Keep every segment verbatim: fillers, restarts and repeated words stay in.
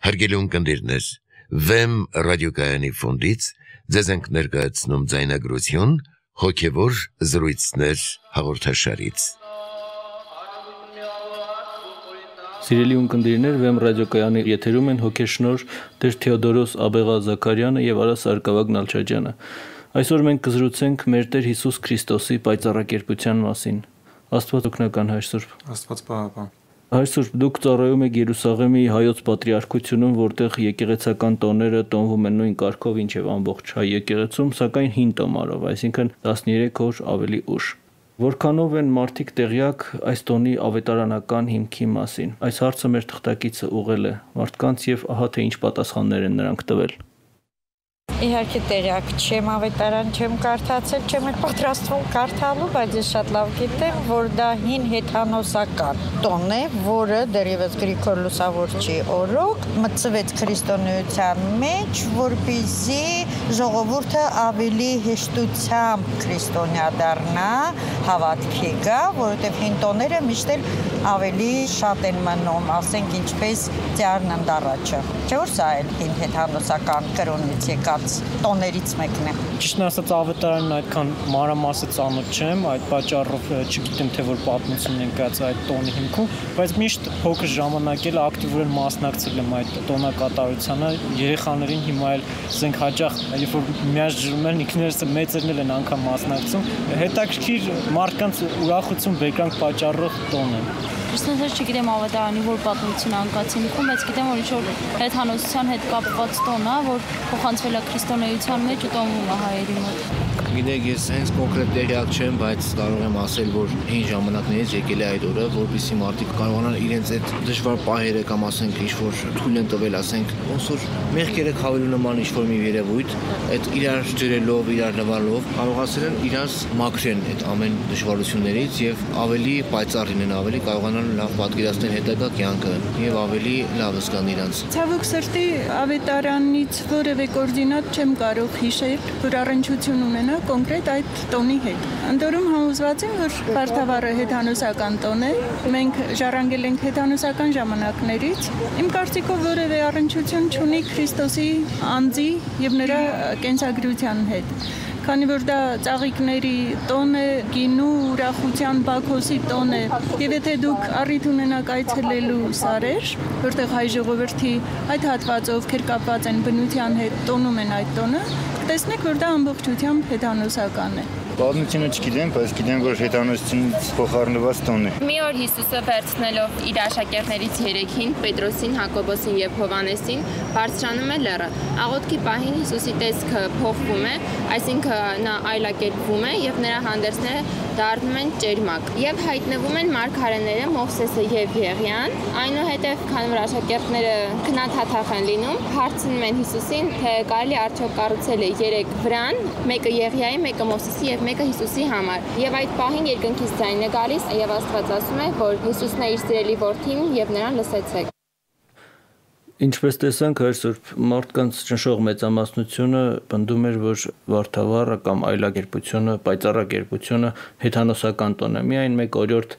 Հարգելի ունկնդիրներ, Վեմ ռադիոկայանի ֆոնդից ձեզ ենք ներկայացնում ձայնագրություն հոգևոր զրույցներ հաղորդաշարից։ Սիրելի ունկնդիրներ, Վեմ ռադիոկայանի եթերում են հոգեշնոր Տեր Թեոդորոս Աբեղա Զաքարյանը եւ Արա Սարգսակ Նալչաջյանը։ Այսօր մենք կզրուցենք մեր Տեր Հիսուս Քրիստոսի պայծառակերպության մասին։ Աստված օգնական Հայր Սուրբ։ Աստված պահապան։ Հայր Սուրբ, դուք ծառայում եք Երուսաղեմի հայոց պատրիարքությունում, որտեղ եկեղեցական տոները տոնվում են նույն կարգով, ինչ եւ ամբողջ հայ եկեղեցում, սակայն հին տոմարով, այսինքն տասներեք օր ավելի ուշ։ Որքանով են մարդիկ տեղյակ այս տոնի ավետարանական հիմքի մասին։ Այս հարցը մեր թղթակիցը ուղղել է մարդկանց եւ ահա թե ինչ պատասխաններ են նրանք տվել։ Իհարկե տեղյակ չեմ, ավետարան չեմ կարդացել, չեմ էլ պատրաստվում կարդալու, բայց ես շատ լավ գիտեմ, որ դա հին հեթանոսական տոն է, որը դեռևս Գրիգոր Լուսավորչի օրոք մտցվեց քրիստոնեության մեջ, որպեսզի ժողովուրդը ավելի հեշտությամբ քրիստոնյա դառնա, հավատքի գա, որովհետև հին տոները միշտ էլ ավելի շատ են մնում, ասենք ինչպես Ծառն ընդառաջը։ Չէ՞ որ սա էլ հին հեթանոսական կրոնից եկած տոներից մեկն է։ Ճիշտն ասած ավետարանն այդքան մանրամասը ծանոթ չեմ, այդ պատճառով չգիտեմ թե որ պատմությունն են կայացած այդ տոնի հիմքում, բայց միշտ փոքր ժամանակ էլ ակտիվորեն մասնակցել եմ այդ տոնակատարությանը, երեխաներին հիմա էլ ասենք հաճախ երբ որ միաժամանակ են ինքներս մեծերն են անգամ մասնակցում, հետաքրքիր մարդկանց ուրախություն բերկրանք պատճառող տոն է։ Ճիշտ չգիտեմ ավետարանի որ պատմություն անկած հիմքում, բայց գիտեմ որ ինչ-որ հեթանոսության հետ կապված տոն է, որ փոխանցվել է քրիստոնեության մեջ ու տոնվում է հայերի մոտ։ Գիտեք, ես հենց կոնկրետ տեղյակ չեմ, բայց կարող եմ ասել, որ հին ժամանակներից եկել է այդ օրը, որպեսզի մարդիկ կարողանան իրենց այդ դժվար պահերը կամ ասենք ինչ-որ թույլ են տվել, ասենք, ոնց որ մեղքերը խավելու նման ինչ-որ մի երևույթ, այդ իրար ջրելով, իրար լվալով կարողացել են իրար մաքրեն այդ ամեն դժվարություններից եւ ավելի պայծառ լինեն, ավելի կարողանան լավ պատկերացնել հետագա կյանքը եւ ավելի լավ զգան իրանց։ Ցավոք սրտի ավետարանից որևէ կոորդինատ չեմ կարող հիշել, որ առնչություն ունենա կոնկրետ այդ տոնի հետ։ Անդորում համոզված եմ, որ Վարդավառը հեթանոսական տոն է։ Մենք ժառանգել ենք հեթանոսական ժամանակներից։ Իմ կարծիքով որևէ առնչություն չունի Քրիստոսի անձի եւ նրա կենսագրության հետ։ Քանի որ դա ծաղիկների տոն է, գինու ուրախության Բաքոսի տոն է, եւ եթե դուք առիթ ունենաք այցելելու Սարեր, որտեղ հայ ժողովրդի այդ հատվածը ովքեր կապված են բնության հետ տոնում են այդ տոնը, տեսնեք, որ դա ամբողջությամբ հեթանոսական է։ Պատմությունը չգիտեմ, բայց գիտեմ, որ հեթանոսությունից փոխառնված տոն է։ Մի օր Հիսուսը վերցնելով իր աշակերտներից երեքին, Պետրոսին, Հակոբոսին եւ Հովանեսին, բարձրանում է լեռը։ Աղոթքի պահին Հիսուսի տեսքը փոխվում է, այսինքն նա այլակերպվում է եւ նրա հանդերձները դառնում են ճերմակ։ Եվ հայտնվում են մարգարեները Մովսեսը եւ Եղիան, այնուհետեւ քանի որ աշակերտները քնաթաթախ են լինում, հարցնում են Հիսուսին, թե կարելի արդյոք կառուցել է երեք վրան, մեկը Եղիայի, մեկը Մովսեսի եւ մեկը Հիսուսի համար։ Եվ այդ պահին երկնքից ձայն է գալիս եւ Աստված ասում է, որ Հիսուսն է իր սիրելի որդին եւ նրան լսեցեք։ Ինչպես տեսանք, Հայր Սուրբ, մարդկանց ճնշող մեծամասնությունը պնդում էր, որ Վարդավառը կամ այլակերպությունը, պայծառակերպությունը հեթանոսական տոն է։ Միայն մեկ օրիորդ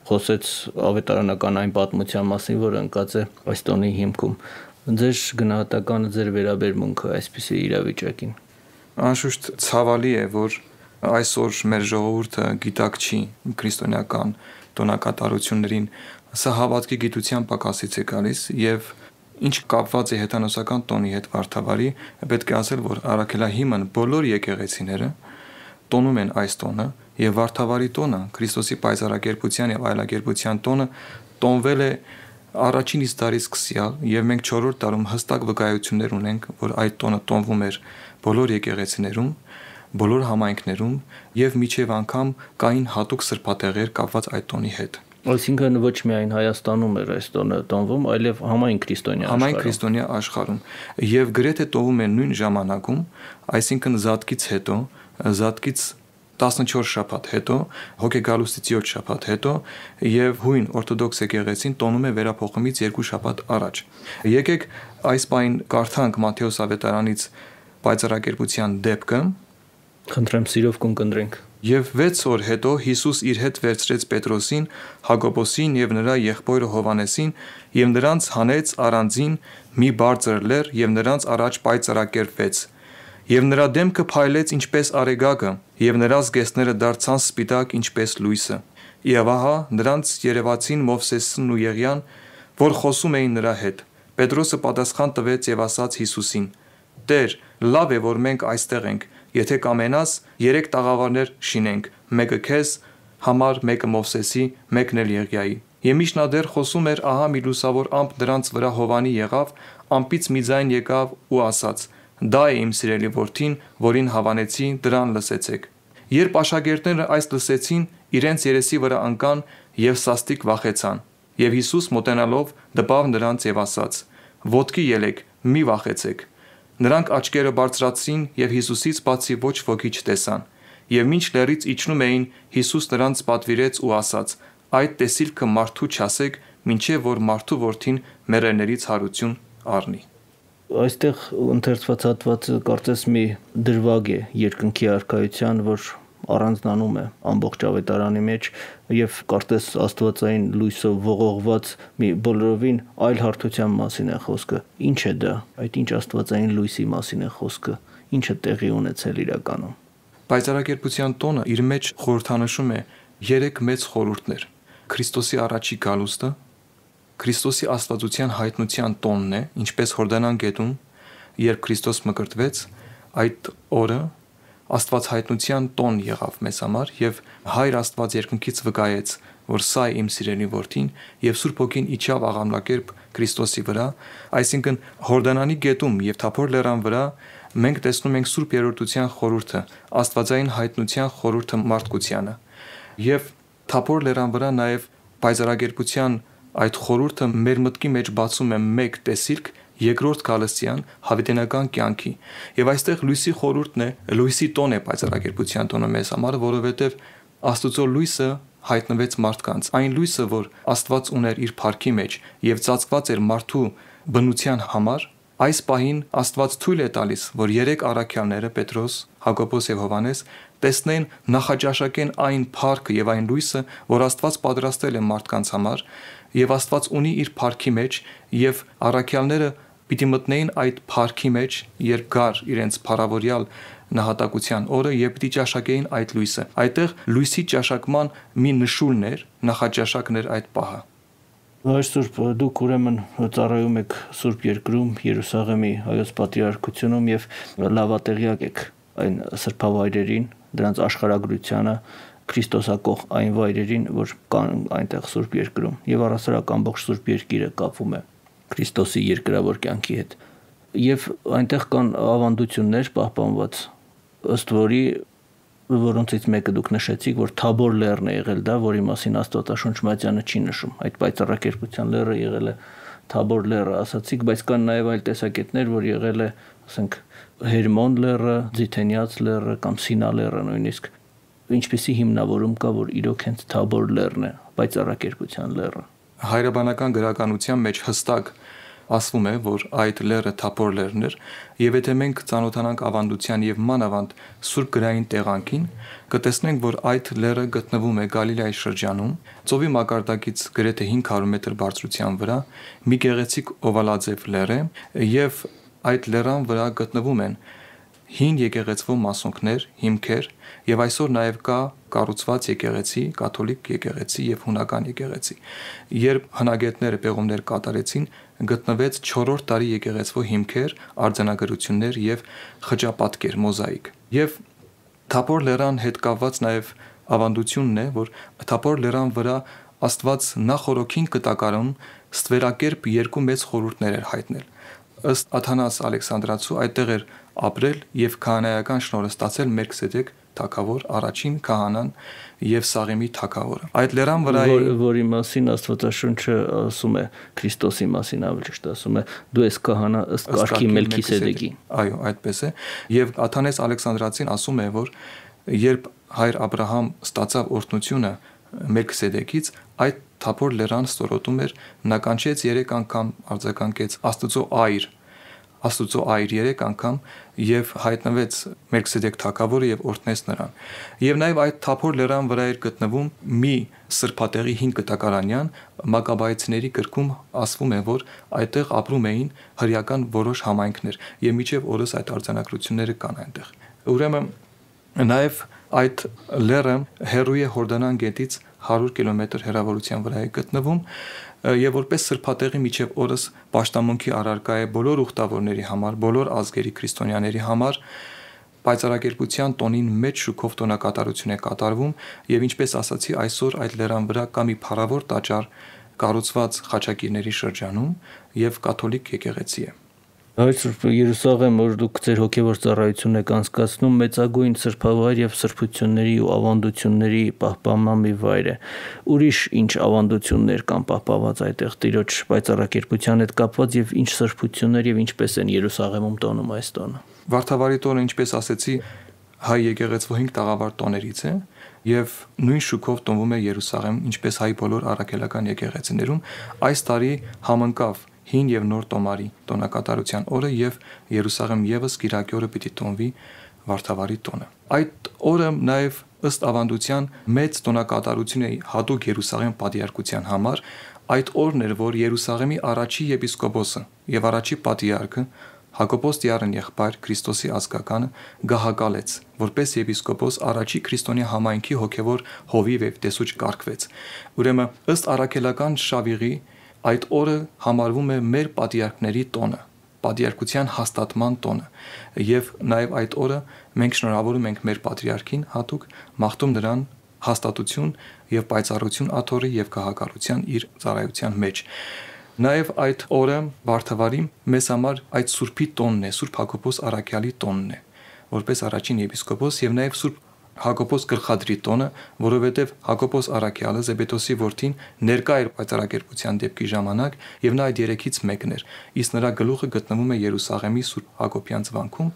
խոսեց ավետարանական այն պատմության մասին, որը ընկած է այս տոնի հիմքում։ Ձեր գնահատականը, ձեր վերաբերմունքը այսպիսի իրավիճակին։ Անշուշտ ցավալի է, որ այսօր մեր ժողովուրդը գիտակ չի քրիստոնեական տոնակատարություններին, սա հավատքի գիտության պակասից է գալիս եւ ինչ կապված է հեթանոսական տոնի հետ Վարդավառի, պետք է ասել, որ առաքելահիմն բոլոր եկեղեցիները տոնում են այս տոնը եւ Վարդավառի տոնը, Քրիստոսի պայծառակերպության եւ այլակերպության տոնը տոնվել է առաջին իսկ դարից սկսյալ եւ մենք չորրորդ դարում հստակ վկայություններ ունենք, որ այդ տոնը տոնվում էր բոլոր եկեղեցիներում, բոլոր համայնքներում եւ միջև անգամ կային հատուկ սրբատեղեր կապված այդ տոնի հետ։ Այսինքն ոչ միայն Հայաստանում էր այս տոնը տոնվում, այլև համայն քրիստոնյա աշխարհում։ Համայն քրիստոնյա աշխարհում եւ գրեթե տոնվում են նույն ժամանակում, այսինքն Զատկից հետո, Զատկից տասնչորս շաբաթ հետո, հոգեգալուստից յոթ շաբաթ հետո եւ հույն օրթոդոքս եկեղեցին տոնում է վերափոխումից երկու շաբաթ առաջ։ Եկեք այս բան կարդանք Մատթեոս ավետարանից պայծառակերպության դեպքը։ Խնդրեմ սիրով կընկնդրենք։ Եվ վեց օր հետո Հիսուս իր հետ վերցրեց Պետրոսին, Հակոբոսին եւ նրա եղբայրը Հովանեսին եւ նրանց հանեց առանձին մի բարձր լեռ եւ նրանց առաջ պայծառակերպվեց։ Եվ նրա դեմքը փայլեց ինչպես արեգակը, եւ նրա զգեստները դարձան սպիտակ ինչպես լույսը։ Եվ ահա նրանց երևացին Մովսեսն ու Եղիան, որ խոսում էին նրա հետ։ Պետրոսը պատասխան տվեց եւ ասաց Հիսուսին. Տեր, լավ է, որ մենք այստեղ ենք, եթե կամենաս, երեք տաղավարներ շինենք, մեկը քեզ համար, մեկը Մովսեսի, մեկն էլ Եղիայի։ Եվ միշտ նա դեռ խոսում էր, ահա մի լուսավոր ամպ դրանց վրա հովանի եղավ, ամպից մի ձայն եկավ ու ասաց. Դա է իմ սիրելի որդին, որին հավանեցի, դրան լսեցեք։ Երբ աշակերտները այս լսեցին, իրենց երեսի վրա ընկան եւ սաստիկ վախեցան։ Եվ Հիսուս մոտենալով դպավ նրանց եւ ասաց. Ոտքի ելեք, մի վախեցեք։ Նրանք աչքերը բարձրացրին եւ Հիսուսից բացի ոչ ոքի չտեսան։ Եվ մինչ լեռից իջնում էին, Հիսուս նրանց պատվիրեց ու ասաց. Այդ տեսիլքը մարդու չասեք, մինչև որ մարդու որդին մեռելներից հարություն առնի։ Այստեղ ընթերցված հատվածը կարծես մի դրվագ է երկնքի արքայության, որ առանձնանում է ամբողջ ավետարանի մեջ եւ կարծես աստվածային լույսով ողողված մի բոլորովին այլ հարթության մասին է խոսքը։ Ինչ է դա։ Այդ ինչ աստվածային լույսի մասին է խոսքը։ Ինչ է տեղի ունեցել իրականում։ Պայծառակերպության տոնը իր մեջ խորհրդանշում է երեք մեծ խորհուրդներ։ Քրիստոսի առաջի գալուստը, Քրիստոսի աստվածության հայտնության տոնն է, ինչպես Հորդանան գետում, երբ Քրիստոս մկրտվեց, այդ օրը Աստված հայտնության տոն եղավ մեզ համար եւ Հայր Աստված երկնքից վկայեց, որ սա է իմ սիրելի որդին եւ Սուրբ Հոգին իջավ աղամնակերպ Քրիստոսի վրա, այսինքն Հորդանանի գետում եւ Թափոր լեռան վրա մենք տեսնում ենք Սուրբ Երրորդության խորհուրդը, Աստվածային հայտնության խորհուրդը մարդկությանը։ Եվ Թափոր լեռան վրա նաեւ պայծառակերպության այդ խորհուրդը մեր մտքի մեջ բացում է մեկ տեսիլք երկրորդ գալստյան հավիտենական կյանքի եւ այստեղ լույսի խորհուրդն է, լույսի տոն է պայծառակերպության տոնը մեզ համար, որովհետեւ Աստծո լույսը հայտնվեց մարդկանց, այն լույսը, որ Աստված ուներ իր փառքի մեջ եւ ծածկված էր մարդու բնության համար, այս պահին Աստված թույլ է տալիս, որ երեք առաքյալները Պետրոս, Հակոբոս եւ Հովանես տեսնեն, նախաճաշակեն այն փառքը եւ այն լույսը, որ Աստված պատրաստել է մարդկանց համար, եւ Աստված ունի իր փառքի մեջ եւ առաքյալները պիտի մտնեին այդ փառքի մեջ, երբ գար իրենց փառավորյալ նահատակության օրը եւ պիտի ճաշակեին այդ լույսը։ Այդտեղ լույսի ճաշակման մի նշույլն էր, նախաճաշակն էր այդ պահը։ Հայր Սուրբ, դուք ուրեմն ծառայում եք Սուրբ Երկրում, Երուսաղեմի հայոց պատրիարքությունում եւ լավատեղյակ եք այն սրբավայրերին, դրանց աշխարհագրությանը, Քրիստոսակող այն վայրերին, որ կան այնտեղ Սուրբ Երկրում եւ առասարակ ամբողջ Սուրբ Երկիրը կապվում է Քրիստոսի երկրավոր կյանքի հետ։ Եվ այնտեղ կան ավանդություններ պահպանված, ըստ որի որոնցից մեկը դուք նշեցիք, որ Թաբոր լեռն է եղել դա, որի մասին Աստվածաշունչ Մատյանը չի նշում։ Այդ պայծառակերպության լեռը եղել է Թաբոր լեռը, ասացիք, բայց կան նաև այլ տեսակետներ, որ եղել է, ասենք, Հերմոն լեռը, Ձիթենյաց լեռը կամ Սինա լեռը նույնիսկ։ Ինչպեսի հիմնավորում կա, որ իրոք հենց Թաբոր լեռն է, պայծառակերպության լեռը։ Հայրաբանական գրականության մեջ հստակ ասվում է, որ այդ լեռը Թափոր լեռն էր, եւ եթե մենք ծանոթանանք ավանդության եւ մանավանդ Սուրբ գրային տեղանքին, կտեսնենք, որ այդ լեռը գտնվում է Գալիլեայի շրջանում, ծովի մակարդակից գրեթե հինգ հարյուր մետր բարձրության վրա, մի գեղեցիկ օվալաձև լեռ է, եւ այդ լեռան վրա գտնվում են հին եկեղեցվո մասոնքներ, հիմքեր, եւ այսօր նաեւ կա կառուցված եկեղեցի, կաթոլիկ եկեղեցի եւ հունական եկեղեցի։ Երբ հնագետները պեղումներ կատարեցին, գտնվեց չորրորդ դարի եկեղեցվո հիմքեր, արձանագրություններ եւ խճապատկեր, մոզաիկ։ Եվ Թափոր լեռան հետ կապված նաեւ ավանդությունն է, որ Թափոր լեռան վրա Աստված նախորոքին կտակարում ստվերակերպ երկու մեծ խորհուրդներ էր հայտնել։ Ըստ Աթանաս Ալեքսանդրացու այդտեղ էր ապրել եւ քահանայական շնորհը ստացել Մելքսեդեկ թագավոր, առաջին քահանան եւ Սաղեմի թագավորը։ Այդ լեռան վրա որի մասին Աստվածաշունչը ասում է, Քրիստոսի մասին ավելի ճիշտ ասում է, դու ես քահանա ըստ կարգի Մելքիսեդեկի։ Այո, այդպես է։ Եւ Աթանաս Ալեքսանդրացին ասում է, որ երբ հայր Աբրահամ ստացավ օրհնությունը Մելքիսեդեկից, այդ Թափոր լեռան ստորոտում էր, նա կանչեց երեք անգամ արձագանքեց Աստծո այր, Աստուծո այր երեք անգամ եւ հայտնվեց Մելքսեդեկ թագավորը եւ օրհնեց նրան։ Եվ նաեւ այդ Թափոր լեռան վրա էր գտնվում մի սրբատեղի հին կտակարանյան, Մակաբայեցիների գրքում ասվում է, որ այդտեղ ապրում էին հրեական որոշ համայնքներ եւ մինչեւ օրս այդ արձանագրությունները կան այնտեղ։ Ուրեմն նաեւ այդ լեռը հեռու է Հորդանան գետից հարյուր կիլոմետր հեռավորության վրա է գտնվում եւ որպես սրբատեղի միջև օրս պաշտամունքի առարկա է բոլոր ուխտավորների համար, բոլոր ազգերի քրիստոնյաների համար, պայծառակերպության տոնին մեծ շուկով տոնակատարություն է կատարվում եւ ինչպես ասացի, այսօր այդ լեռան վրա կա մի փառավոր տաճար կառուցված Խաչակիրների շրջանում եւ կաթոլիկ եկեղեցի է։ Հայր Սուրբ Երուսաղեմ, որ դուք ձեր հոգևոր ծառայությունն եք անցկացնում, մեծագույն սրբավայր եւ սրբությունների ու ավանդությունների պահպանման մի վայր է։ Ուրիշ ինչ ավանդություններ կան պահպանված այդտեղ Տիրոջ պայծառակերպության հետ կապված եւ ինչ սրբություններ եւ ինչպես են Երուսաղեմում տոնում այս տոնը։ Վարդավառի տոնը, ինչպես ասեցի, հայ եկեղեցու հինգ տաղավար տոներից է եւ նույն շուկով տոնվում է Երուսաղեմ, ինչպես հայ բոլոր առաքելական եկեղեցիներում։ Այս տարի համընկավ հին եւ նոր տոմարի տոնակատարության օրը եւ Երուսաղեմ եւս Կիրակի օրը պիտի տոնվի Վարդավառի տոնը։ Այդ օրը նաեւ ըստ ավանդության մեծ տոնակատարություն է հատուկ Երուսաղեմ պատիարակության համար։ Այդ օրն էր, որ Երուսաղեմի առաջի եպիսկոպոսը եւ առաջի պատիարակը Հակոբոս Տիարն եղբայր Քրիստոսի ազգականը գահակալեց, որպես եպիսկոպոս առաջի քրիստոնյա համայնքի հոգևոր հովիվ եւ տեսուչ կարգվեց։ Ուրեմն ըստ առաքելական շավիղի այդ օրը համարվում է մեր պատիարքների տոնը, պատիարակության հաստատման տոնը, եւ նաեւ այդ օրը մենք շնորհավորում ենք մեր պատրիարքին հատուկ, մաղթում նրան հաստատություն եւ պայծառություն աթոռի եւ գահակալության իր ծառայության մեջ։ Նաեւ այդ օրը Վարդավառի մեզ համար այդ Սուրբի տոնն է, Սուրբ Հակոբոս Առաքյալի տոնն է, որպես առաջին եպիսկոպոս եւ նաեւ Սուրբ Հակոբոս Գլխադրի տոնը, որովհետև Հակոբոս Առաքյալը Զեբեդոսի որդին ներկա էր պայծառակերպության դեպքի ժամանակ եւ նա այդ երեքից մեկն էր, իսկ նրա գլուխը գտնվում է Երուսաղեմի Սուրբ Հակոբյանց վանքում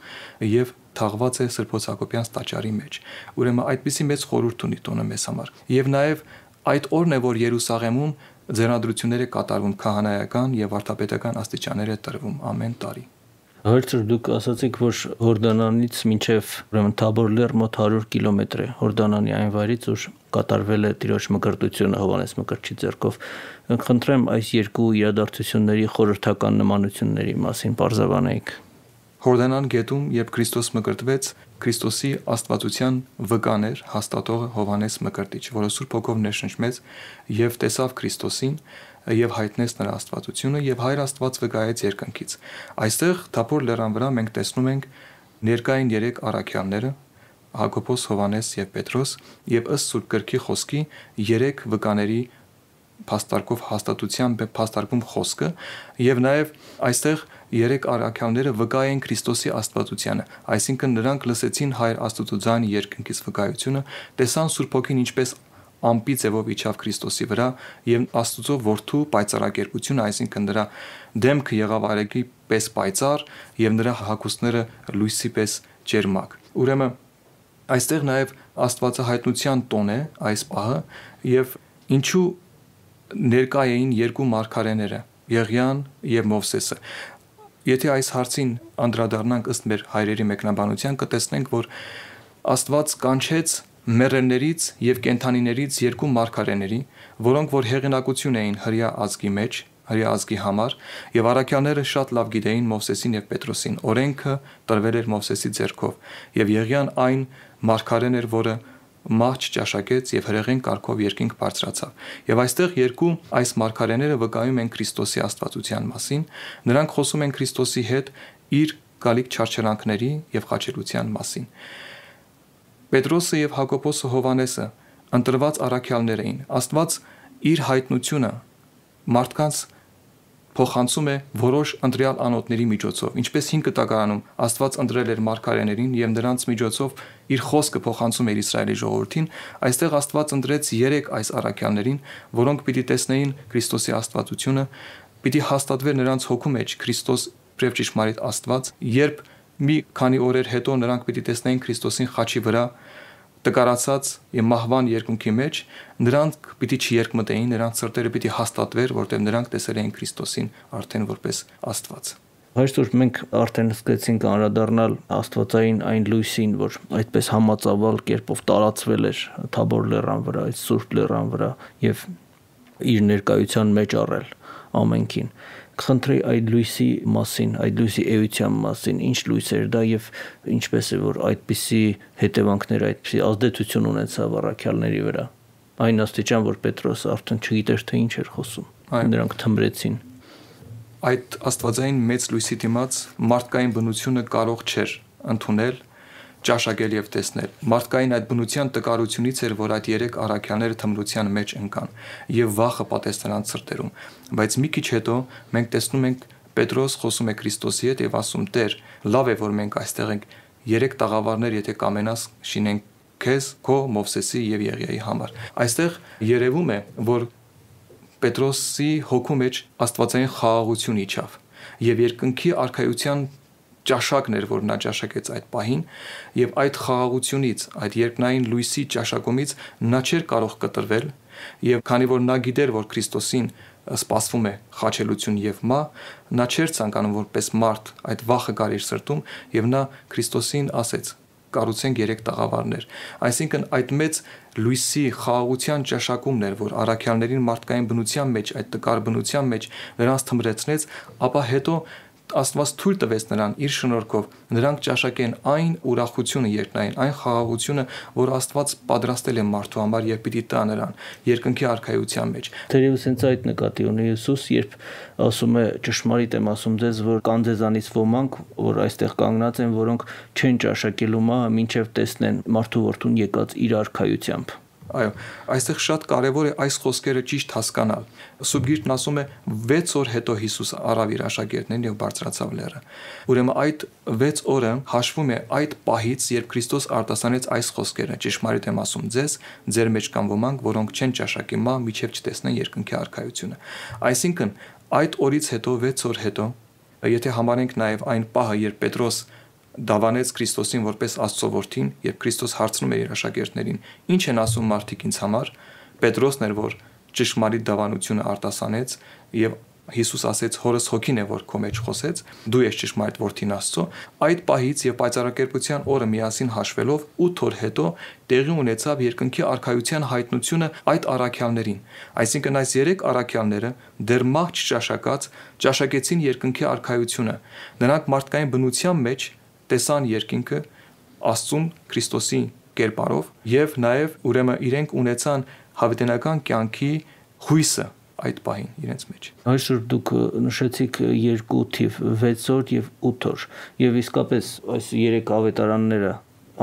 եւ թաղված է Սրբոց Հակոբյանց տաճարի մեջ։ Ուրեմն այդպիսի մեծ խորհուրդ ունի տոնը մեզ համար։ Եվ նաեւ այդ օրն է, որ Երուսաղեմում ձեռնադրությունները կատարվում, քահանայական եւ վարդապետական աստիճաններ է տրվում ամեն տարի։ Հերցր դուք ասացիք, որ Հորդանանից մինչև ուրեմն Թաբոր լեռ մոտ հարյուր կիլոմետր է Հորդանանի այն վայրից, որ կատարվել է Տիրոջ մկրտությունը Հովհաննես Մկրտչի ձեռքով։ Խնդրեմ այս երկու իրադարձությունների խորհրդական նմանությունների մասին պարզաբանեիք։ Հորդանան գետում, երբ Քրիստոս մկրտվեց, Քրիստոսի աստվածության վկան էր հաստատողը Հովհաննես Մկրտիչ, որը Սուրբ Հոգով ներշնչվեց եւ տեսավ Քրիստոսին եւ հայտնեց նրա աստվածությունը եւ Հայր Աստված վկայեց երկնքից։ Այստեղ Թափոր լեռան վրա մենք տեսնում ենք ներկային երեք առաքյալները՝ Հակոբոս, Հովհաննես եւ Պետրոս, եւ ըստ Սուրբ Գրքի խոսքի երեք վկաների փաստարկով հաստատությամբ է փաստարկում խոսքը եւ նաեւ այստեղ երեք առաքյալները վկայեն Քրիստոսի աստվածությանը, այսինքն նրանք լսեցին Հայր Աստծո ձայնը երկնքից վկայությունը, տեսան Սուրբ Հոգին ինչպես ամպի ձևով իջավ Քրիստոսի վրա եւ Աստծո որդու պայծառակերպությունը, այսինքն նրա դեմքը եղավ արեգի պես պայծառ եւ նրա հագուստները լույսի պես ջերմակ։ Ուրեմն այստեղ նաեւ Աստվածահայտնության տոն է այս պահը եւ ինչու ներկա էին երկու մարգարեները՝ Եղիան եւ Մովսեսը։ Եթե այս հարցին անդրադառնանք ըստ մեր հայրերի մեկնաբանության, կտեսնենք, որ Աստված կանչեց մեռելներից եւ կենդանիներից երկու մարգարեների, որոնք որ հեղինակություն էին հրյա ազգի մեջ, հրյա ազգի համար, եւ առաքյալները շատ լավ գիտեին Մովսեսին եւ Պետրոսին։ Օրենքը տրվել էր Մովսեսի ձեռքով, եւ Եղիան այն մարգարեն էր, որը մահ չճաշակեց եւ հրեղեն կարգով երկինք բարձրացավ։ Եվ այստեղ երկու այս մարգարեները վկայում են Քրիստոսի աստվածության մասին, նրանք խոսում են Քրիստոսի հետ իր գալիք չարչարանքների եւ խաչելության մասին։ Պետրոսը եւ Հակոբոսը Հովհաննեսը ընտրված առաքյալներ էին։ Աստված իր հայտնությունը մարդկանց փոխանցում է որոշ ընտրյալ անոթների միջոցով, ինչպես հին կտակարանում Աստված ընտրել էր մարգարեներին եւ նրանց միջոցով իր խոսքը փոխանցում էր Իսրայելի ժողովրդին, այստեղ Աստված ընտրեց երեք այս առաքյալներին, որոնք պիտի տեսնեին Քրիստոսի աստվածությունը, պիտի հաստատվեր նրանց հոգու մեջ Քրիստոս եւ ճշմարիտ Աստված, երբ մի քանի օրեր հետո նրանք պիտի տեսնեին Քրիստոսին խաչի վրա տկարացած եւ մահվան երկունքի մեջ, նրանք պիտի չերկմտեին, նրանց սրտերը պիտի հաստատվեր, որտեղ նրանք տեսել էին Քրիստոսին արդեն որպես Աստված։ Այսօր մենք արդեն սկսեցինք անդրադառնալ աստվածային այն լույսին, որ այդպես համածավալ կերպով տարածվել էր Թաբոր լեռան վրա, այդ Սուրբ լեռան վրա եւ իր ներկայության մեջ առել ամենքին։ Խնդրի այդ լույսի մասին, այդ լույսի էության մասին, ինչ լույս էր դա եւ ինչպես է որ այդպիսի հետևանքներ, այդպիսի ազդեցություն ունեցավ առաքյալների վրա։ Այն աստիճան, որ Պետրոսը արդեն չգիտեր թե ինչ էր խոսում։ Նրանք թմրեցին։ Այդ աստվածային մեծ լույսի դիմաց մարդկային բնությունը կարող չէր ընդունել, ճաշակել եւ տեսնել։ Մարդկային այդ բնության տկարությունից էր, որ այդ երեք առաքյալները թմրության մեջ ընկան եւ վախը պատեց նրանց սրտերում։ Բայց մի քիչ հետո մենք տեսնում ենք Պետրոս խոսում է Քրիստոսի հետ եւ ասում. «Տեր, լավ է, որ մենք այստեղ ենք, երեք տաղավարներ, եթե կամենաս, շինենք քեզ, քո, Մովսեսի եւ Եղիայի համար»։ Այստեղ երևում է, որ Պետրոսի հոգու մեջ աստվածային խաղաղություն իջավ եւ երկնքի արքայության ճաշակն էր, որ նա ճաշակեց այդ պահին, եւ այդ խաղաղությունից, այդ երկնային լույսի ճաշակումից նա չէր կարող կտրվել, եւ քանի որ նա գիտեր, որ Քրիստոսին սպասվում է խաչելություն եւ մահ, նա չէր ցանկանում որպես մարդ այդ վախը գար իր սրտում եւ նա Քրիստոսին ասեց. «Կառուցենք երեք տաղավարներ»։ Այսինքն այդ մեծ լույսի խաղաղության ճաշակումն էր, որ առաքյալներին մարդկային բնության մեջ, այդ տկար բնության մեջ նրանց թմրեցնեց, ապա հետո Աստված թույլ տվեց նրան իր շնորհքով նրանք ճաշակեն այն ուրախությունը երկնային, այն խաղաղությունը, որ Աստված պատրաստել է մարդու համար եւ պիտի տա նրան երկնքի արքայության մեջ։ Թերևս հենց այդ նկատի ունի Հիսուս, երբ ասում է ճշմարիտ եմ ասում ձեզ, որ կան ձեզանից ոմանք, որ այստեղ կանգնած են, որոնք չեն ճաշակելու մահը, մինչև տեսնեն մարդու որդուն եկած իր արքայությամբ։ Այո, այստեղ շատ կարևոր է այս խոսքերը ճիշտ հասկանալ։ Սուրբ Գիրքն ասում է վեց օր հետո Հիսուս առավ իր աշակերտներին եւ բարձրացավ լեռը։ Ուրեմն այդ վեց օրը հաշվում է այդ պահից, երբ Քրիստոս արտասանեց այս խոսքերը. «Ճշմարիտ եմ ասում ձեզ, ձեր մեջ կան ոմանք, որոնք չեն ճաշակի մահ, մինչև չտեսնեն երկնքի արքայությունը»։ Այսինքն այդ օրից հետո վեց օր հետո, եթե համարենք նաեւ այն պահը, երբ Պետրոս դավանեց Քրիստոսին որպես Աստծո որդին, երբ Քրիստոս հարցնում էր իր աշակերտներին. «Ինչ են ասում մարդիկ ինձ համար»։ Պետրոսն էր, որ ճշմարիտ դավանությունը արտասանեց եւ Հիսուս ասեց. «Հորս հոգին է, որ քո մեջ խոսեց, դու ես ճշմարիտ որդին Աստծո»։ Այդ պահից եւ պայծառակերպության օրը միասին հաշվելով ութ օր հետո տեղի ունեցավ երկնքի արքայության հայտնությունը այդ առաքյալներին։ Այսինքն այս երեք առաքյալները դեռ մահ չճաշակած ճաշակեցին երկնքի արքայությունը։ Նրանք մարդկային բնության մեջ տեսան երկինքը Աստծուն Քրիստոսի կերպարով եւ նաեւ ուրեմն իրենք ունեցան հավիտենական կյանքի հույսը այդ պահին իրենց մեջ։ Այսօր դուք նշեցիք երկու թիվ՝ վեց օր եւ ութ օր, եւ իսկապես այս երեք ավետարանները,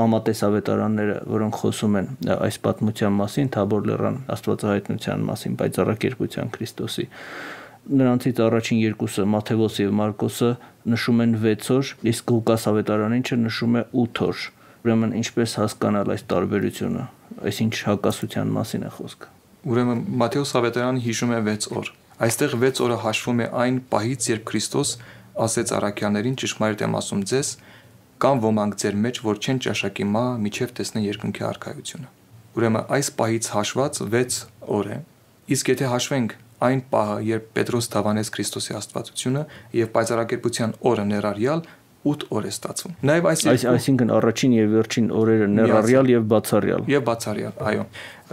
ամատես ավետարանները, որոնք խոսում են այս պատմության մասին, Թաբոր լեռան աստվածահայտնության մասին, պայծառակերպության Քրիստոսի, նրանցից առաջին երկուսը Մատթեոս եւ Մարկոսը նշում են վեց օր, իսկ Ղուկաս ավետարանինչը նշում է ութ օր։ Ուրեմն ինչպես հասկանալ այս տարբերությունը, այսինչ հակասության մասին է խոսքը։ Ուրեմն Մատթեոս ավետարանը հիշում է վեց օր։ Այստեղ վեց օրը հաշվում է այն պահից, երբ Քրիստոս ասեց առաքյալներին. «Ճշմարիտ եմ ասում ձեզ, կան ոմանք ձեր մեջ, որ չեն ճաշակի մահ, մինչև տեսնեն երկնքի արքայությունը»։ Ուրեմն այս պահից հաշված վեց օր է։ Իսկ եթե հաշվենք այն պահը, երբ Պետրոս դավանեց Քրիստոսի աստվածությունը եւ պայծառակերպության օրը ներառյալ ութ օր է ստացվում։ Նաեւ այս այսինքն առաջին եւ վերջին օրերը ներառյալ եւ բացառյալ։ Եվ բացառյալ, այո։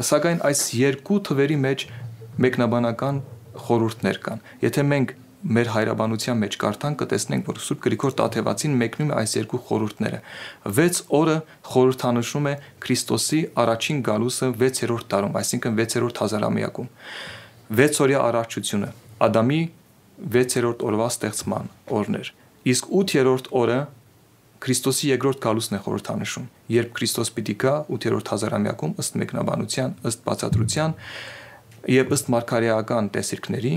Սակայն այս երկու թվերի մեջ մեկնաբանական խորհուրդներ կան։ Եթե մենք մեր հայրաբանության մեջ կարդանք, կտեսնենք, որ Սուրբ Գրիգոր Տաթևացին մեկնում է այս երկու խորհուրդները։ վեց օրը խորհրդանշում է Քրիստոսի առաջին գալուսը վեցերորդ տարում, այսինքն վեցերորդ հազարամյակում։ վեցօրյա առարչությունը Ադամի վեցերորդ օրվա ստեղծման օրն էր։ Իսկ ութերորդ օրը Քրիստոսի երկրորդ գալուսն է խորհրդանշում, երբ Քրիստոս պիտի գա ութերորդ հազարամյակում ըստ մեկնաբանության, ըստ բացատրության եւ ըստ մարգարեական տեսիլքների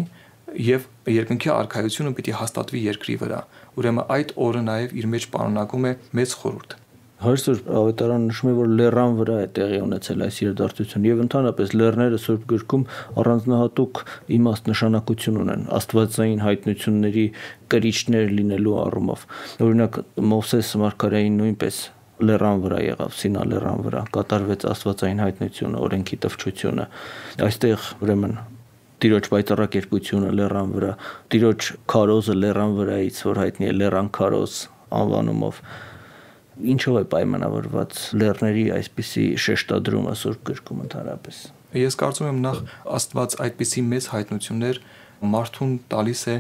եւ երկնքի արքայությունը պիտի հաստատվի երկրի վրա։ Ուրեմն այդ օրը նաեւ իր մեջ պարունակում է մեծ խորհուրդ։ Այսօր ավետարանը նշում է, որ լեռան վրա է տեղի ունեցել այս իրադարձությունը եւ ընդհանրապես լեռները Սուրբ Գրքում առանձնահատուկ իմաստ նշանակություն ունեն աստվածային հայտնությունների կրիչներ լինելու առումով։ Օրինակ Մովսես մարգարեին նույնպես լեռան վրա եղավ, Սինա լեռան վրա կատարվեց աստվածային հայտնությունը, օրենքի տվչությունը։ Այստեղ ուրեմն Տիրոջ պայծառակերպությունը լեռան վրա, Տիրոջ քարոզը լեռան վրայից, որ հայտնի է Լեռան քարոզ անվանումով։ Ինչով է պայմանավորված լեռների այսպիսի շեշտադրումը Սուրբ գրքում ընդհանրապես։ Ես կարծում եմ նախ Աստված այդպիսի մեծ հայտնություններ մարդուն տալիս է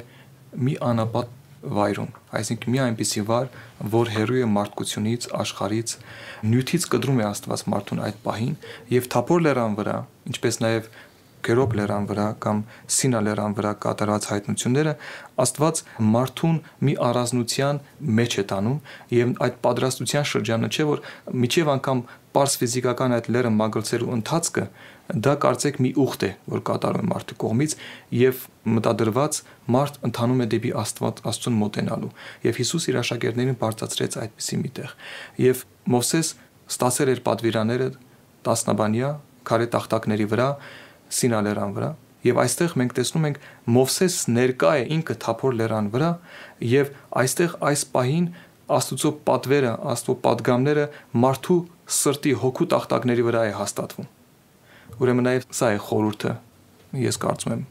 մի անապատ վայրում, այսինքն մի այնպիսի վայր, որ հեռու է մարդկությունից, աշխարհից, նյութից կտրում է Աստված մարդուն այդ պահին, եւ Թափոր լեռան վրա, ինչպես նաեւ Կերոբ լեռան վրա կամ Սինա լեռան վրա կատարած հայտնությունները Աստված մարդուն մի առանձնության մեջ է տանում եւ այդ պատրաստության շրջանը չէ որ միջև անգամ պարզ ֆիզիկական այդ լեռը մագլցելու ընթացքը դա կարծեք մի ուխտ է որ կատարում է մարդու կողմից եւ մտադրված մարդ ընթանում է դեպի Աստված Աստծուն մոտենալու եւ Հիսուս իր աշակերտներին բարձրացրեց այդպիսի մի տեղ եւ Մովսես ստացել էր պատվիրանները տասնաբանյա քարե տախտակների վրա Սինա լեռան վրա եւ այստեղ մենք տեսնում ենք Մովսես ներկա է ինքը Թափոր լեռան վրա եւ այստեղ այս պահին Աստծո պատվերը, Աստծո պատգամները մարդու սրտի հոգու տախտակների վրա է հաստատվում։ Ուրեմն նաեւ սա է խորհուրդը, ես կարծում եմ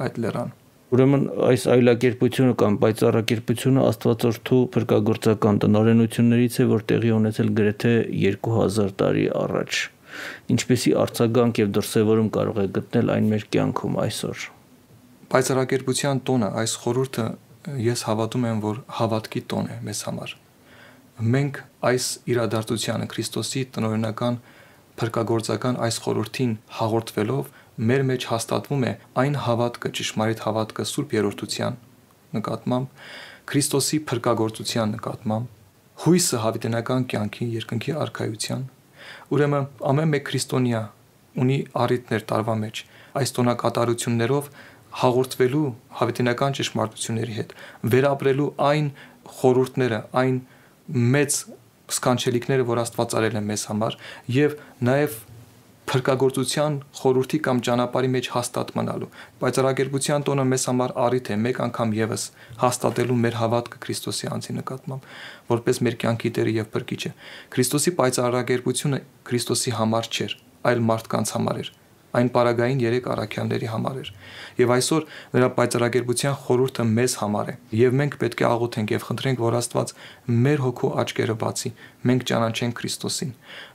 այդ լեռան։ Ուրեմն այս այլակերպությունը կամ պայծառակերպությունը Աստվածորդու փրկagorցական տնօրենություններից է, որ տեղի ունեցել գրեթե երկու հազար տարի առաջ։ Ինչպեսի արձագանք եւ դրսեւորում կարող է գտնել այն մեր կյանքում այսօր։ Պայծառակերպության տոնը, այս խորհուրդը ես հավատում եմ, որ հավատքի տոն է մեզ համար։ Մենք այս իրադարձությանը Քրիստոսի տնօրինական փրկagorցական այս խորհրդին հաղորդվելով մեր մեջ հաստատվում է այն հավատքը, ճշմարիտ հավատքը Սուրբ Երրորդության նկատմամբ, Քրիստոսի փրկagorցության նկատմամբ, հույսը հավիտենական կյանքի երկնքի արքայության։ Ուրեմն ամեն մեկ քրիստոնյա ունի առիթներ տարվա մեջ այս տոնակատարություններով հաղորդվելու հավիտենական ճշմարտությունների հետ, վերապրելու այն խորհուրդները, այն մեծ սքանչելիքները, որ Աստված արել է մեզ համար, եւ նաեւ փրկagorցության խորհրդի կամ ճանապարհի մեջ հաստատ մնալու։ Պայծառակերպության տոնը մեզ համար առիթ է մեկ անգամ եւս հաստատելու մեր հավատքը Քրիստոսի անձի նկատմամբ, որպես մեր կյանքի Տերը եւ Փրկիչը։ Քրիստոսի պայծառակերպությունը Քրիստոսի համար չէր, այլ մարդկանց համար էր։ Այն պարագային երեք առաքյալների համար էր։ Եվ այսօր նրա պայծառակերպության խորհուրդը մեզ համար է։ Եվ մենք պետք է աղոթենք եւ խնդրենք, որ Աստված մեր հոգու աչքերը բացի, մենք ճանաչենք Քրիստոսին,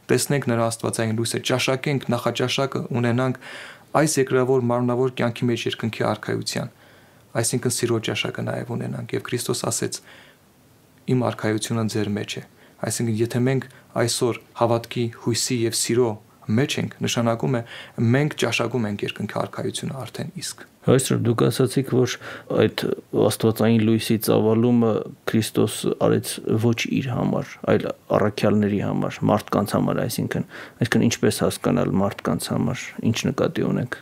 տեսնենք նրա աստվածային լույսը, ճաշակենք նախաճաշակը, ունենանք այս երկրավոր մարմնավոր կյանքի մեջ երկնքի արքայության, այսինքն սիրո ճաշակը նաեւ ունենանք։ Եվ Քրիստոս ասեց. Իմ արքայությունը ձեր մեջ է։ Այսինքն եթե մենք այսօր հավատքի, հույսի եւ սիրո մեջ ենք, նշանակում է մենք ճաշակում ենք երկնքի արքայությունը արդեն իսկ։ Այսօր դուք ասացիք, որ այդ աստվածային լույսի ծավալումը Քրիստոս արեց ոչ իր համար, այլ առաքյալների համար, մարդկանց համար, այսինքն, այսինքն ինչպես հասկանալ մարդկանց համար, ինչ նկատի ունենք։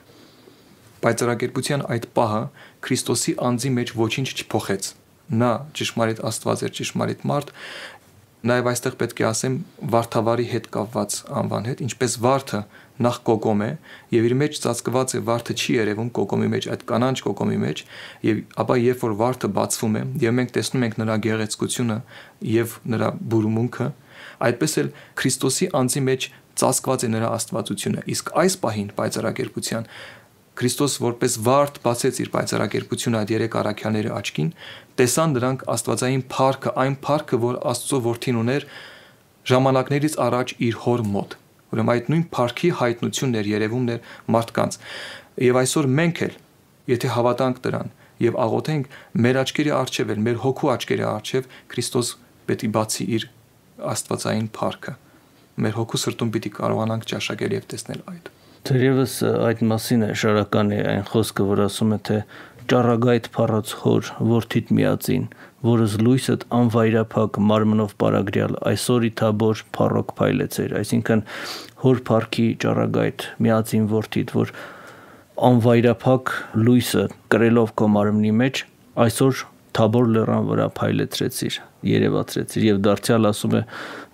Պայծառակերպության այդ պահը Քրիստոսի անձի մեջ ոչինչ չփոխեց։ Նա ճշմարիտ Աստված էր, ճշմարիտ մարդ։ Նաև այստեղ պետք է ասեմ վարդավարի հետ կապված անվան հետ, ինչպես վարդը նախ կոկոմ է եւ իր մեջ ծածկված է, վարդը չի երևում կոկոմի մեջ, այդ կանանչ կոկոմի մեջ, եւ ապա երբ որ վարդը բացվում է եւ մենք տեսնում ենք նրա գեղեցկությունը եւ նրա բուրմունքը, այդպես էլ Քրիստոսի անձի մեջ ծածկված է նրա աստվածությունը։ Իսկ այս պահին պայծառակերպության Քրիստոս որպես վարդ բացեց իր պայծառակերպությունը այդ երեք առաքյալների աչքին, տեսան նրանք աստվածային փառքը, այն փառքը, որ Աստծո որդին ուներ ժամանակներից առաջ իր հոր մոտ։ Ուրեմն այդ նույն փառքի հայտնությունն էր, երևումն էր մարդկանց։ Եվ այսօր մենք էլ, եթե հավատանք դրան եւ աղոթենք, մեր աչքերի առջև էլ, մեր հոգու աչքերի առջև Քրիստոս պետք է բացի իր աստվածային փառքը։ Մեր հոգու սրտում պիտի կարողանանք ճաշակել եւ տեսնել այդ։ Թերևս այդ մասին է շարական է այն խոսքը, որ ասում է, թե ճառագայթ փառած հոր որդիդ միածին, որս լույսդ անվայրափակ մարմնով պարագրյալ այսօր ի Թաբոր փառոք փայլեցեր, այսինքն հոր փառքի ճառագայթ միածին որդիդ, որ անվայրափակ լույսը կրելով քո մարմնի մեջ այսօր Թաբոր լեռան վրա փայլեցրեցիր, երևացրեցիր եւ դարձյալ ասում է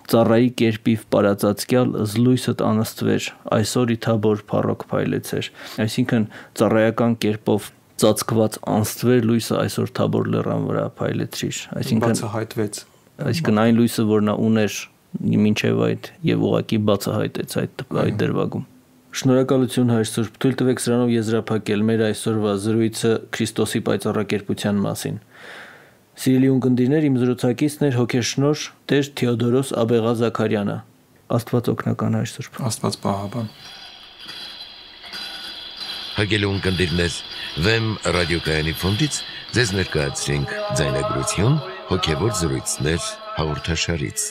ծառայի կերպիվ պարածածկյալ զլույսդ անստվեր, այսօր ի Թաբոր փառոք փայլեցեր, այսինքն ծառայական կերպով ծածկված անստվեր լույսը այսօր Թաբոր լեռան վրա փայլեցրիր, այսինքն բացահայտվեց, այսինքն այն լույսը, որ նա ուներ մինչև այդ եւ ուղակի բացահայտեց այդ այդ դրվագում։ Շնորհակալություն Հայր Սուրբ, թույլ տվեք սրանով եզրափակել մեր այսօրվա զրույցը Քրիստոսի պայծառակերպության մասին։ Սիրելի ունկնդիրներ, իմ զրուցակիցն էր հոգեշնորհ Տեր Թեոդորոս Աբեղա Զաքարյանը։ Աստված օգնական Հայր Սուրբ։ Աստված պահապան։ Հարգելի ունկնդիրներ, Վեմ ռադիոկայանի ֆոնդից ձեզ ներկայացրինք ձայնագրություն հոգևոր զրույցներ հաղորդաշարից։